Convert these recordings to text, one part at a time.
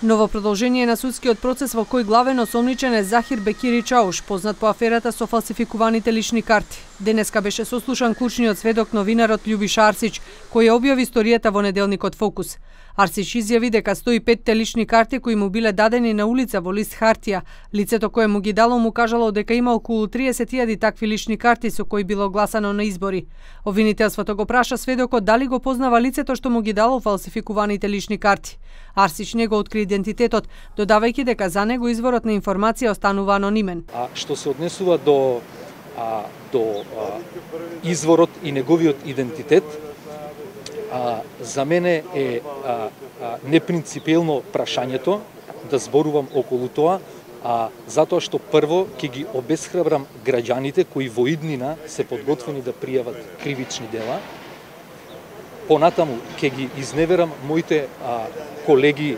Ново продолжение на судскиот процес во кој главен осомничен е Захир Бекири Чауш, познат по аферата со фалсификуваните лични карти. Денеска беше сослушан клучниот сведок новинарот Љубиша Арсич, кој ја објави историјата во неделникот Фокус. Арсич изјави дека 105 лични карти кои му биле дадени на улица во лист хартија, лицето кое му ги дало му кажало дека има околу 30.000 такви лични карти со кои било гласано на избори. Обвинителството го праша сведокот дали го познава лицето што му ги дало фалсификуваните лични карти. Арсич не го откри идентитетот, додавајќи дека за него изворот на информација останува анонимен. Што се однесува до изворот и неговиот идентитет, за мене е непринципелно прашањето да зборувам околу тоа, затоа што прво ќе ги обесхрабрам граѓаните кои во иднина се подготвени да пријават кривични дела. Понатаму ќе ги изневерам моите колеги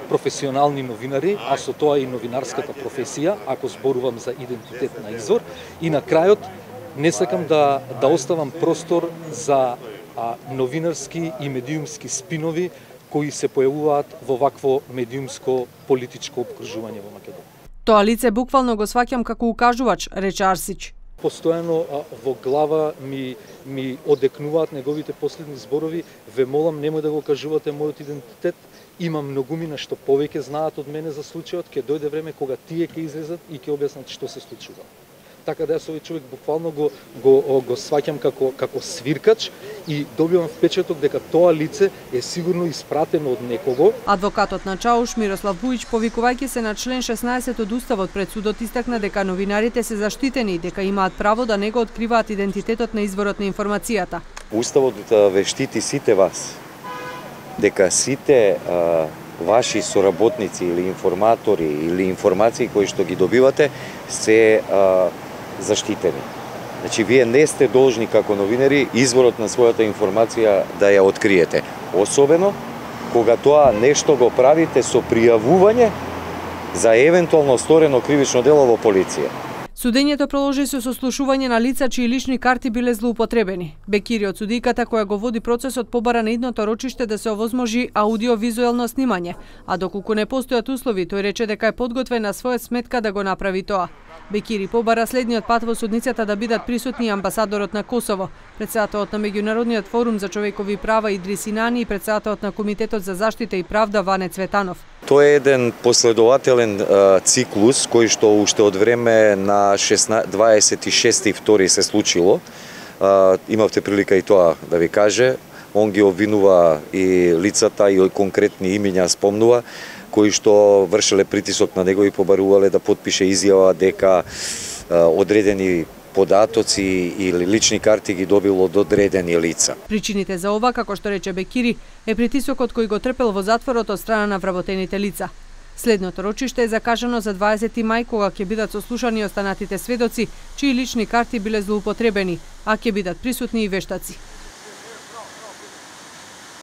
професионални новинари, а со тоа и новинарската професија, ако зборувам за идентитет на извор. И на крајот не сакам да оставам простор за новинарски и медиумски спинови кои се појавуваат во вакво медиумско политичко опкружување во Македонија. Тоа лице буквално го сваќам како укажувач, рече Арсич. Постојано во глава ми одекнуваат неговите последни зборови. Ве молам, немој да го кажувате мојот идентитет. Има многумина што повеќе знаат од мене за случајот. Ќе дојде време кога тие ќе излезат и ќе објаснат што се случува. Така да јас овој човек буквално го сваќам како свиркач и добивам впечаток дека тоа лице е сигурно испратено од некого. Адвокатот на Чауш Мирослав Буич, повикувајќи се на член 16 од Уставот пред судот, истакна дека новинарите се заштитени и дека имаат право да не го откриваат идентитетот на изворот на информацијата. Уставот ве штити сите вас, дека сите ваши соработници или информатори или информации кои што ги добивате се заштитени. Значи, вие не сте должни како новинари изворот на својата информација да ја откриете. Особено кога тоа нешто го правите со пријавување за евентуално сторено кривично дело во полиција. Судењето продолжи со сослушување на лица чии лични карти биле злоупотребени. Бекири од судиката која го води процесот побара на идното рочиште да се овозможи аудиовизуелно снимање, а доколку не постојат услови, тој рече дека е подготвен на своја сметка да го направи тоа. Бекири побара следниот пат во судницата да бидат присутни амбасадорот на Косово, председателот на Меѓународниот форум за човекови права Идрис Инани и председателот на Комитетот за заштита и правда Ване Цветанов. Тоа е еден последователен циклус кој што уште од време на 26.2 се случило. Имавте прилика и тоа да ви каже. Он ги обвинува и лицата и конкретни имиња спомнува кои што вршеле притисок на него и побарувале да потпише изјава дека одредени податоци или лични карти ги добило од одредени лица. Причините за ова, како што рече Бекири, е притисокот кој го трпел во затворот од страна на вработените лица. Следното рочиште е закажано за 20 мај, кога ќе бидат сослушани останатите сведоци, чии лични карти биле злоупотребени, а ќе бидат присутни и вештаци.